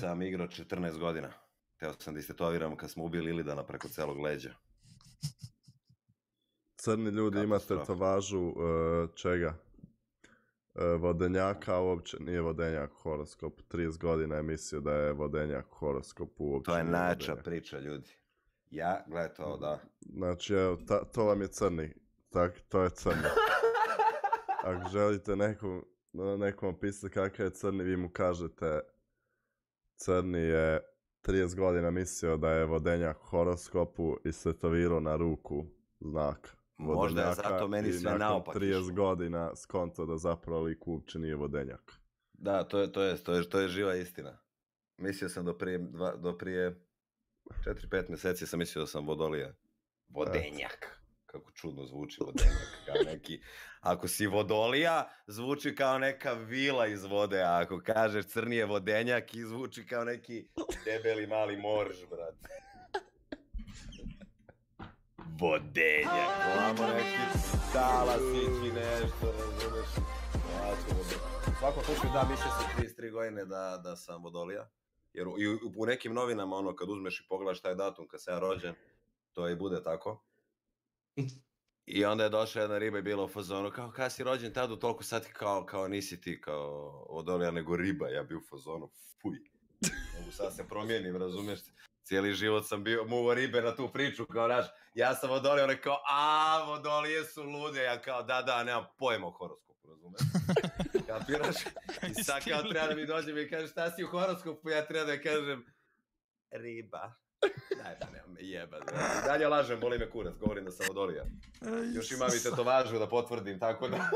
sam igrao 14 godina. Teo sam da istetoviram kad smo ubili Ilidana preko celog leđa. Crni ljudi imate tetovažu čega? Vodenjaka, a uopće nije vodenjak u horoskopu. 30 godina je mislio da je vodenjak u horoskopu. Uopće to je najjača priča, ljudi. Ja, gledaj to, da. Znači, evo, to vam je crni. To je crni. Ako želite nekom opisati kakav je crni, vi mu kažete crni je 30 godina mislio da je vodenjak u horoskopu i stetovirao na ruku znak. Možda je zato meni sve naopak. 30 godina skonto da zapravo lik uopće nije vodenjak. Da, to je živa istina. Mislio sam do prije 4-5 mjeseci sam mislio da sam vodolija. Vodenjak. Kako čudno zvuči vodenjak. Kao neki, ako si vodolija, zvuči kao neka vila iz vode, a ako kažeš crni je vodenjak, zvuči kao neki debeli mali morž, brate. Vodenjak, ovamo neki talasići nešto, razumeš? U svakom slučaju da, mislio sam 33 godine da sam vodolija. Jer u nekim novinama, ono, kad uzmeš i pogledaš taj datum kad sam ja rođen, to i bude tako. I onda je došla jedna riba i bila u fazonu, kao kada si rođen tada u toliko sati, kao nisi ti kao vodolija nego riba, ja bi u fazonu, fuj. Mogu sad se promijenim, razumiješ? Cijeli život sam bio muvo ribe na tu priču, kao naš, ja sam vodolija, on je kao, vodolije su lude, ja kao, da, nemam pojma o horoskopu, razumiješ? Kapiraš? I sad kao treba da mi dođem i kažem, šta si u horoskopu, ja treba da kažem, riba. Daj da nemam me jebat. Dalje lažem, boli me kurac, govorim da sam vodolija. Još imam i tetovažu da potvrdim, tako da...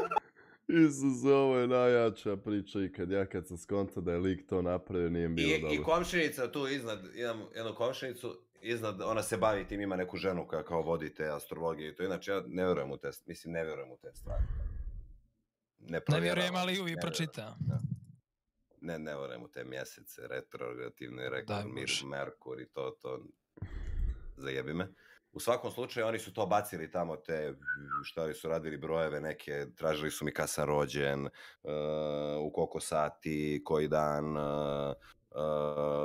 Isus, ovo je najjača priča i kad sam skonto da je lik to napravio, nije bilo dobro. I komšinica tu iznad, imam jednu komšinicu, iznad, ona se bavi tim, ima neku ženu koja kao vodi te astrologije i to, inače ja ne vjerujem u te stvari. Ne vjerujem, ali uvijek pročita. Ne vjerujem u te mjesece, retrogrativne, Merkur i to, zajebi me. U svakom slučaju oni su to bacili tamo, te šta li su radili brojeve neke, tražili su mi kad sam rođen, u koliko sati, koji dan,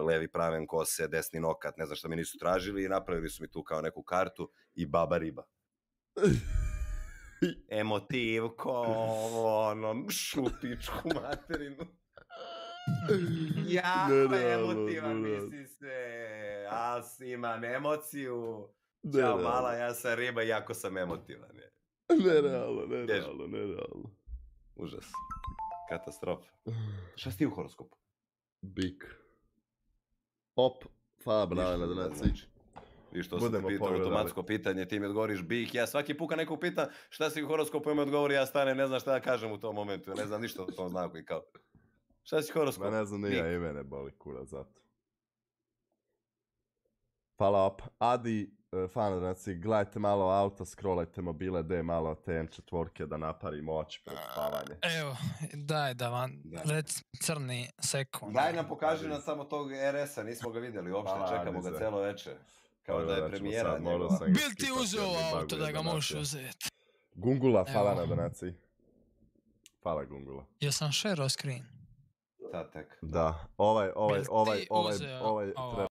levi praven kose, desni nokat, ne znam šta mi nisu tražili i napravili su mi tu kao neku kartu i baba riba. Emotivko, ono, šutičku materinu. Jako emotivan misli se, ali imam emociju. Ćao mala, ja sam riba i jako sam emotivan. Nerealno. Užas. Katastrofa. Šta si ti u horoskopu? Bik. Hvala bravo na donaciji. Viš, to sam te pitao automatsko pitanje, ti mi odgovoriš bik. Ja svaki puka nekog pita šta si u horoskopu i mi odgovori, ja stane, ne znam šta da kažem u tom momentu. Ja ne znam ništa o tom znaku i kao. Šta si horoskop? Ma ne znam, nije i mene boli kura zato. Hvala op. Adi, fanodnaci, gledajte malo auto, scrollajte mobile, daj malo te M4 da naparimo oči pred spavanje. Evo, daj da vam reci crni sekund. Daj nam pokaži nam samo tog RS-a, nismo ga vidjeli uopšte, čekamo ga celo večer. Kao da je premijera njegova. Bil ti uzeo auto da ga možeš uzeti? Gungula, hvala na donaciji. Hvala Gungula. Ja sam share screen. Da, tek. Da, ovaj treba